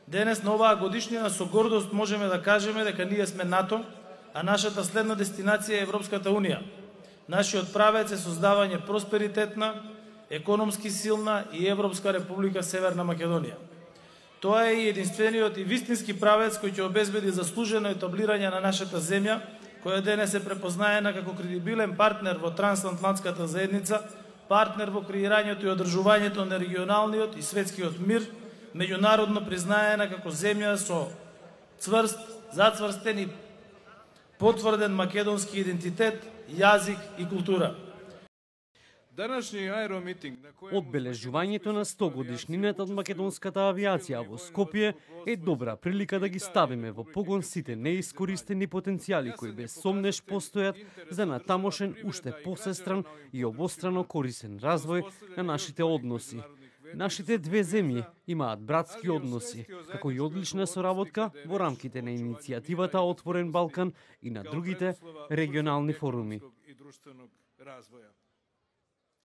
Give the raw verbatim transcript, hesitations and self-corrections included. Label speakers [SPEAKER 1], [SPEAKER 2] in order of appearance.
[SPEAKER 1] Денес на оваа годишнина со гордост можеме да кажеме дека ние сме НАТО, а нашата следна дестинација е Европската Унија. Нашиот правец е создавање просперитетна, економски силна и Европска република Северна Македонија. Тоа е и единствениот и вистински правец кој ќе обезбеди заслужено етаблирање на нашата земја, која денес е препознаена како кредибилен партнер во трансатлантската заедница, партнер во креирањето и одржувањето на регионалниот и светскиот мир, меѓународно признаена како земја со цврст, зацврстен и потврден македонски идентитет, јазик и култура.
[SPEAKER 2] Одбележувањето на сто годишнината од македонската авиација во Скопје е добра прилика да ги ставиме во погон сите неискористени потенцијали кои без сомнеш постојат за натамошен уште посестран и обострано корисен развој на нашите односи. Нашите две земји имаат братски односи, како и одлична соработка во рамките на иницијативата Отворен Балкан и на другите регионални форуми.